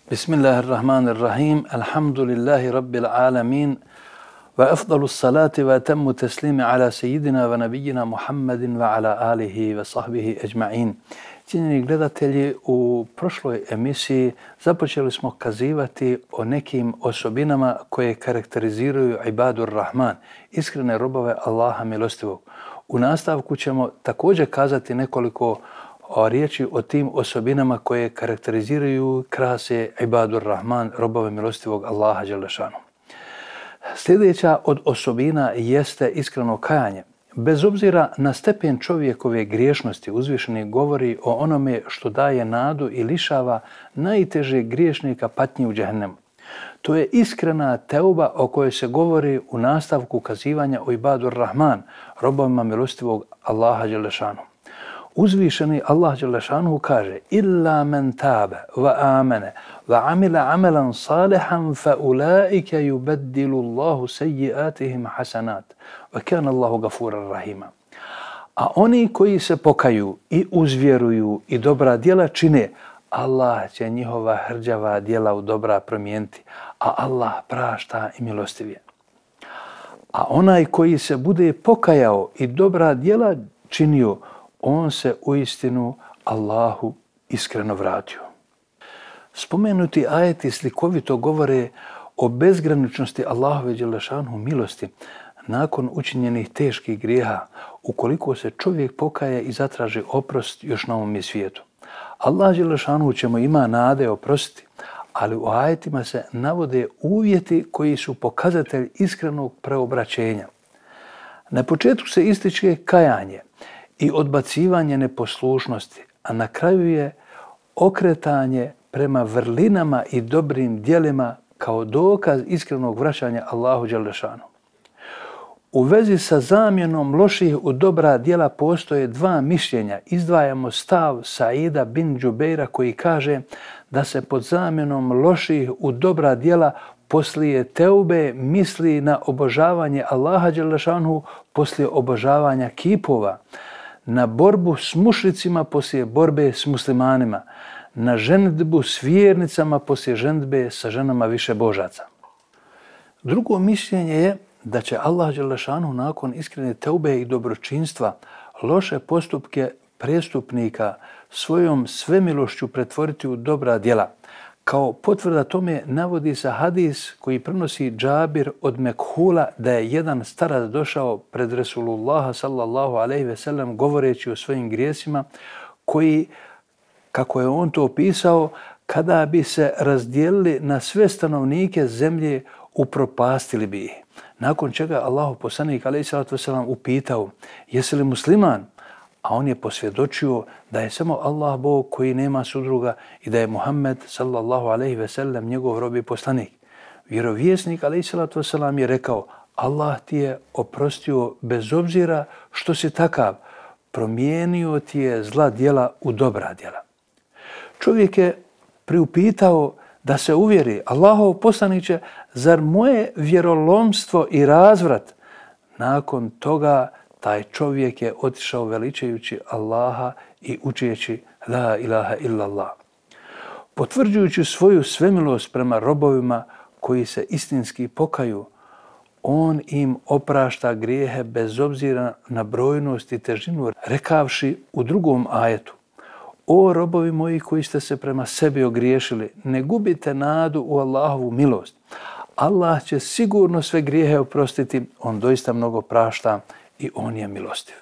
Bismillahirrahmanirrahim. Alhamdulillahi rabbil alamin. Wa afdalu salati wa atammu taslimi ala sejidina wa nabijina Muhammedin wa ala alihi wa sahbihi ajma'in. Cijenjeni gledatelji, u prošloj emisiji započeli smo kazivati o nekim osobinama koje karakteriziraju ibadur rahman, iskrene robove Allaha milostivog. U nastavku ćemo također kazati nekoliko riječi o tim osobinama koje karakteriziraju krase ibadur rahman, robove milostivog Allaha dželešanu. Sljedeća od osobina jeste iskreno kajanje. Bez obzira na stepen čovjekove griješnosti, uzvišeni govori o onome što daje nadu i lišava najtežeg griješnika patnji u džehennemu. To je iskrena teuba o kojoj se govori u nastavku kazivanja o ibadur rahman, robovima milostivog Allaha dželešanu. Uzvišeni Allah dželešanu kaže: illa men tabe wa amene wa amila amalan salihan fa ulaika yubaddilu Allahu sayyi'atihim hasanat wa kana Allahu gafuran rahima. A oni koji se pokaju i uzvjeruju i dobra djela čine, Allah će njihova hrđava djela u dobra promijeniti, a Allah prašta i milostiv je. A onaj koji se bude pokajao i dobra djela činio, on se uistinu Allahu iskreno vratio. Spomenuti ajeti slikovito govore o bezgraničnosti Allahove dželešanu milosti nakon učinjenih teških grijeha, ukoliko se čovjek pokaje i zatraži oprost još na ovom svijetu. Allah dželešanu ćemo ima nade oprostiti, ali u ajetima se navode uvjeti koji su pokazatelj iskrenog preobraćenja. Na početku se ističe kajanje i odbacivanje neposlušnosti, a na kraju je okretanje prema vrlinama i dobrim djelima kao dokaz iskrenog vraćanja Allahu dželešanu. U vezi sa zamjenom loših u dobra djela postoje dva mišljenja. Izdvajamo stav Saida bin Džubeira koji kaže da se pod zamjenom loših u dobra djela poslije teube misli na obožavanje Allaha dželešanu poslije obožavanja kipova, na borbu s mušricima poslije borbe s muslimanima, na ženidbu s vjernicama poslije ženidbe sa ženama više božaca. Drugo mišljenje je da će Allah dželešanu nakon iskrene teube i dobročinstva loše postupke prestupnika svojom svemilošću pretvoriti u dobra djela. Kao potvrda tome navodi se hadis koji prenosi Džabir od Mekhula da je jedan starac došao pred Resulullaha sallallahu alejhi ve sellem govoreći o svojim grijesima koji, kako je on to opisao, kada bi se razdijelili na sve stanovnike zemlje, upropastili bi ih. Nakon čega Allahov poslanik alejhi salatu vesselam upitao: jesi li musliman? A on je posvjedočio da je samo Allah Bog koji nema sudruga i da je Muhammed sallallahu alejhi ve sellem njegov rob i poslanik. Vjerovjesnik alejhi salatu vesselam je rekao: Allah ti je oprostio bez obzira što si takav, promijenio ti je zla djela u dobra djela. Čovjek je priupitao da se uvjeri: Allahov poslaniče, zar moje vjerolomstvo i razvrat? Nakon toga taj čovjek je otišao veličajući Allaha i učeći la ilaha illallah. Potvrđujući svoju svemilost prema robovima koji se istinski pokaju, on im oprašta grijehe bez obzira na brojnost i težinu, rekavši u drugom ajetu: o robovi moji koji ste se prema sebi ogriješili, ne gubite nadu u Allahovu milost. Allah će sigurno sve grijehe oprostiti, on doista mnogo prašta i on je milostiv.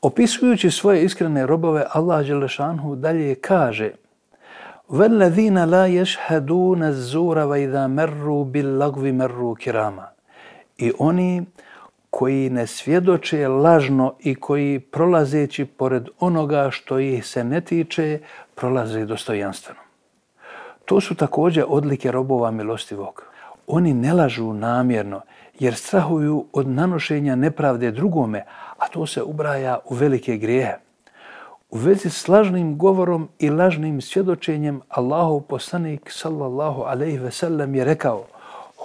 Opisujući svoje iskrene robove, Allah dželešanu dalje kaže: وَالَّذِينَ لَا يَشْهَدُونَ الزُّورَ وَإِذَا مَرُّوا بِاللَّغْوِ مَرُّوا كِرَامًا. I oni koji ne svjedoče lažno i koji prolazeći pored onoga što ih se ne tiče, prolaze dostojanstveno. To su također odlike robova milostivog. Oni ne lažu namjerno jer strahuju od nanošenja nepravde drugome, a to se ubraja u velike grijehe. U vezi s lažnim govorom i lažnim svjedočenjem Allahov poslanik sallallahu alejhi ve sellem je rekao: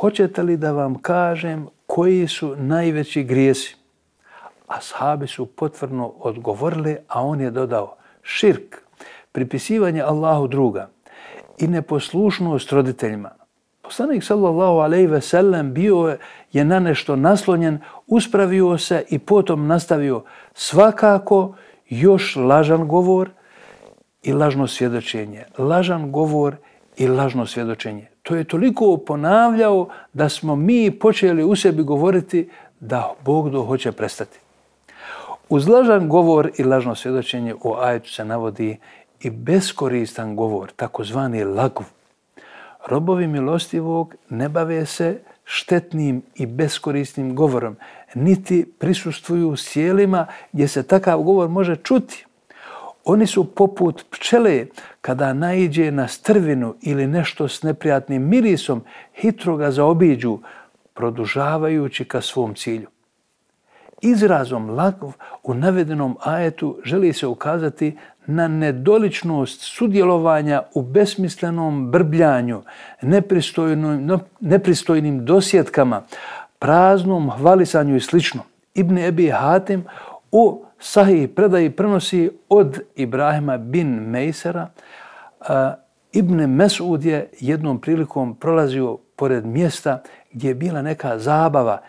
hoćete li da vam kažem koji su najveći grijesi? Ashabi su potvrdno odgovorili, a on je dodao: širk, pripisivanje Allahu druga, i neposlušnost roditeljima. Poslanik sallallahu alejhi ve sellem bio je na nešto naslonjen, uspravio se i potom nastavio svakako još lažan govor i lažno svjedočenje. Lažan govor i lažno svjedočenje. To je toliko ponavljao da smo mi počeli u sebi govoriti da Bog hoće prestati. Uz lažan govor i lažno svjedočenje u ajetu se navodi i beskoristan govor, takozvani lagv. Robovi milostivog ne bave se štetnim i beskorisnim govorom, niti prisustvuju sjelima gdje se takav govor može čuti. Oni su poput pčele kada naiđe na strvinu ili nešto s neprijatnim mirisom, hitro ga zaobiđu, produžavajući ka svom cilju. Izrazom lagv u navedenom ajetu želi se ukazati na nedoličnost sudjelovanja u besmislenom brbljanju, nepristojnim dosjetkama, praznom hvalisanju i sl. Ibn Ebi Hatim u Sahih predaji prenosi od Ibrahima bin Mejsera. Ibn Mesud je jednom prilikom prolazio pored mjesta gdje je bila neka zabava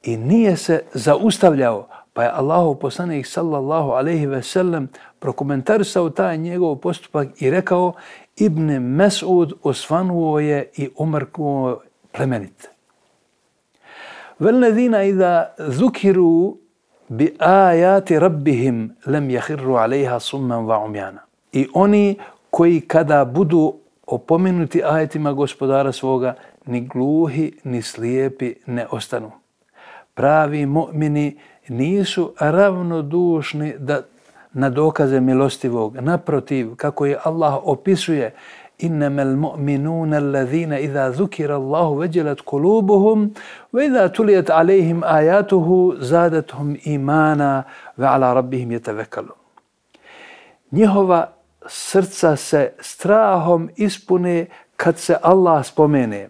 i nije se zaustavljao, pa je Allahov poslanik sallallahu alejhi ve sellem prokomentarisao taj njegov postupak i rekao: Ibn Mesud osvanuo je i umrknuo plemenit. Velledina iza zukiru bi ajati rabbihim lem yahirru alejha summan wa umjana. I oni koji kada budu opomenuti ajetima gospodara svoga, ni gluhi ni slijepi ne ostanu. Pravi mu'mini nisu ravnodušni na dokaze milostivog. Naprotiv, kako je Allah opisuje: Innamal mu'minuna alladhina idha zukira Allahu wajilat qulubuhum wa idha tuliyat alayhim ayatuhu zadatuhum imana wa ala rabbihim yatawakkalun. Njihova srca se strahom ispune kad se Allah spomene,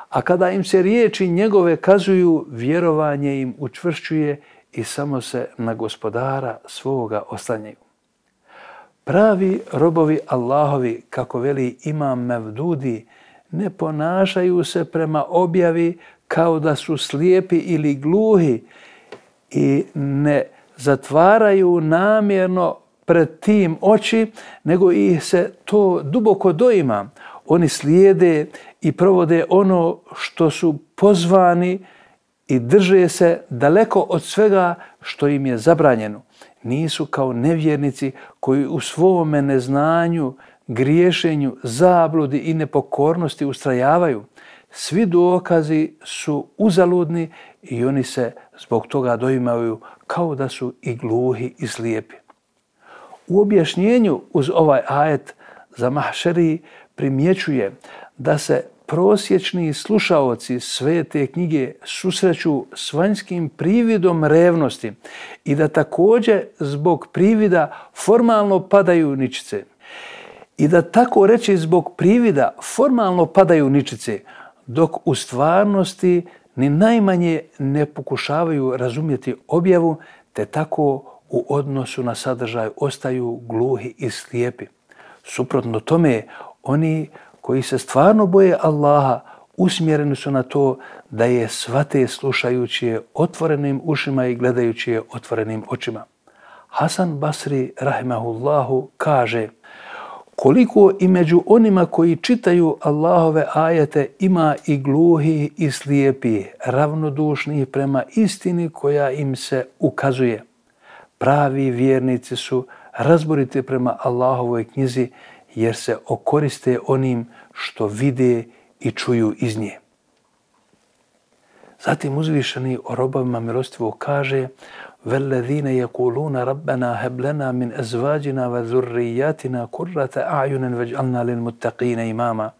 a kada im se riječi njegove kazuju, vjerovanje im učvršćuje i samo se na gospodara svoga oslanjaju. Pravi robovi Allahovi, kako veli Imam Mevdudi, ne ponašaju se prema objavi kao da su slijepi ili gluhi i ne zatvaraju namjerno pred tim oči, nego ih se to duboko doima. Oni slijede i provode ono što su pozvani i drže se daleko od svega što im je zabranjeno. Nisu kao nevjernici koji u svome neznanju, griješenju, zabludi i nepokornosti ustrajavaju. Svi dokazi su uzaludni i oni se zbog toga doimaju kao da su i gluhi i slijepi. U objašnjenju uz ovaj ajet Zamahšeri primjećuje da se prosječni slušaoci svete knjige susreću s vanjskim prividom revnosti i da također zbog privida formalno padaju ničice. I da tako reći zbog privida formalno padaju ničice, dok u stvarnosti ni najmanje ne pokušavaju razumjeti objavu, te tako u odnosu na sadržaj ostaju gluhi i slijepi. Suprotno tome, oni koji se stvarno boje Allaha usmjereni su na to da je shvate slušajući je otvorenim ušima i gledajući je otvorenim očima. Hasan Basri rahimahullahu kaže: koliko i među onima koji čitaju Allahove ajete ima i gluhi i slijepi, ravnodušni prema istini koja im se ukazuje. Pravi vjernici su razboriti prema Allahovoj knjizi jer se okoriste onim što vide i čuju iz nje. Zatim uzvišeni o robovima milostivog kaže: وَالَّذِينَ يَقُولُونَ رَبَّنَا هَبْ لَنَا مِنْ أَزْوَاجِنَا وَذُرِّيَّاتِنَا قُرَّةَ أَعْيُنٍ وَاجْعَلْنَا لِلْمُتَّقِينَ إِمَامًا.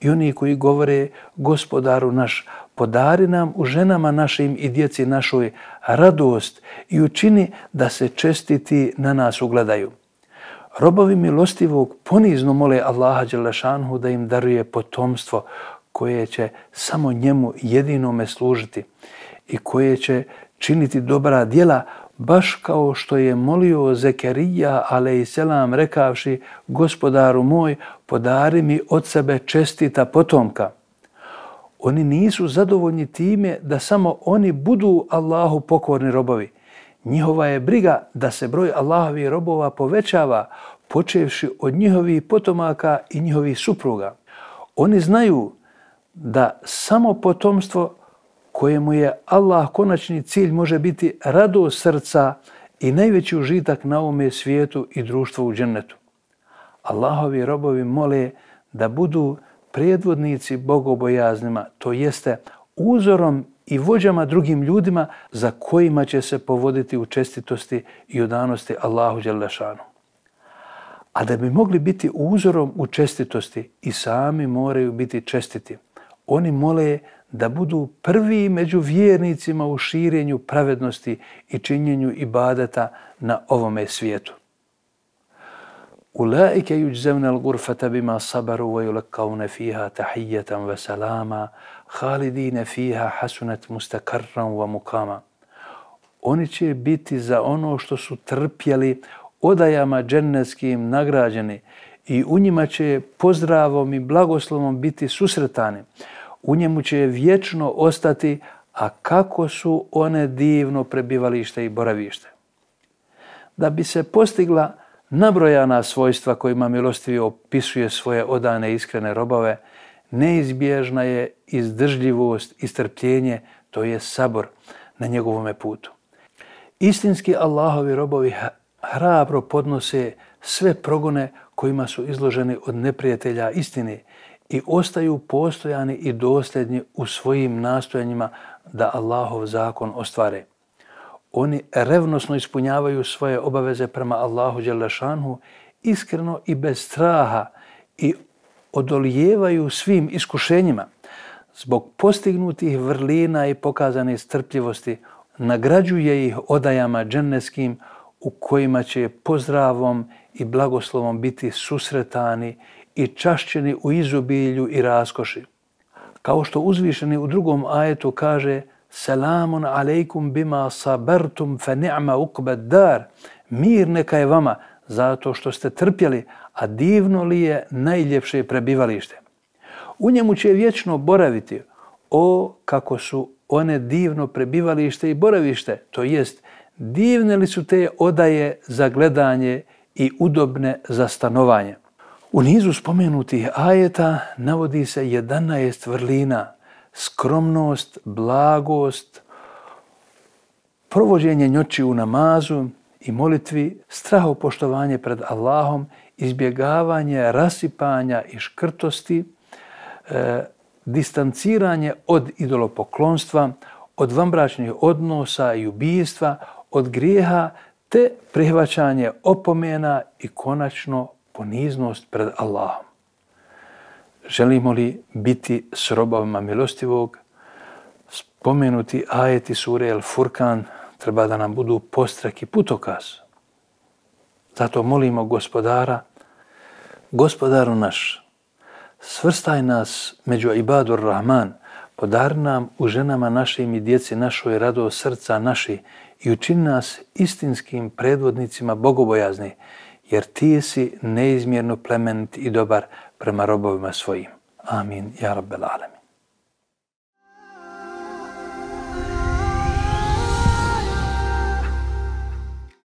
I oni koji govore: Gospodaru naš, podari nam u ženama našim i djeci našoj radost i učini da se čestiti na nas ugledaju. Robovi milostivog ponizno mole Allaha dželešanhu da im daruje potomstvo koje će samo njemu jedinome služiti i koje će činiti dobra djela, baš kao što je molio Zekerija alejselam rekavši: Gospodaru moj, podari mi od sebe čestita potomka. Oni nisu zadovoljni time da samo oni budu Allahu pokorni robovi. Njihova je briga da se broj Allahovih robova povećava, počevši od njihovih potomaka i njihovih supruga. Oni znaju da samo potomstvo kojemu je Allah konačni cilj može biti radost srca i najveći užitak na ovome svijetu i društvu u džennetu. Allahovi robovi mole da budu predvodnici bogobojaznima, to jeste uzorom i vođama drugim ljudima za kojima će se povoditi u čestitosti i odanosti Allahu dželle šanu. A da bi mogli biti uzorom u čestitosti i sami moraju biti čestiti. Oni mole da budu prvi među vjernicima u širenju pravednosti i činjenju ibadeta na ovome svijetu. Ulaike yujzavna al-ghurfata bima sabaru wa yulqawna fiha tahiyatan wa salama khalidina fiha hasunat mustaqarran wa muqama. Oni će biti za ono što su trpjeli odajama džennetskim nagrađeni i u njima će pozdravom i blagoslovom biti susretani. U njemu će vječno ostati, a kako su one divno prebivalište i boravište. Da bi se postigla nabrojana svojstva kojima milostivi opisuje svoje odane iskrene robove, neizbježna je izdržljivost i strpljenje, to je sabor na njegovome putu. Istinski Allahovi robovi hrabro podnose sve progone kojima su izloženi od neprijatelja istine i ostaju postojani i dosljedni u svojim nastojanjima da Allahov zakon ostvare. Oni revnosno ispunjavaju svoje obaveze prema Allahu dželle šanhu iskreno i bez straha i odolijevaju svim iskušenjima. Zbog postignutih vrlina i pokazane strpljivosti nagrađuje ih odajama džennetskim u kojima će pozdravom i blagoslovom biti susretani i čašćeni u izobilju i raskoši. Kao što uzvišeni u drugom ajetu kaže: Selamun alejkum bima sabertum fe ni'ma uqbad dar. Mir neka je vama zato što ste trpjeli, a divno li je najljepše prebivalište. U njemu će vječno boraviti. O, kako su one divno prebivalište i boravište, to jest divne li su te odaje za gledanje i udobne za stanovanje. U nizu spomenutih ajeta navodi se 11 vrlina: skromnost, blagost, provođenje noći u namazu i molitvi, strahopoštovanje pred Allahom, izbjegavanje rasipanja i škrtosti, distanciranje od idolopoklonstva, od vanbračnih odnosa i ubijstva, od grijeha, te prihvaćanje opomena i konačno poniznost pred Allahom. Želimo li biti s robovima milostivog? Spomenuti ajeti sure El Furkan treba da nam budu podstrek i putokaz. Zato molimo Gospodara: Gospodaru naš, svrstaj nas među ibadur Rahman, podari nam u ženama našim i djeci našoj radost srca naši i učini nas istinskim predvodnicima bogobojazni, jer ti si neizmjerno plemenit i dobar prema robovima svojim. Amin, ja rabbel alemin.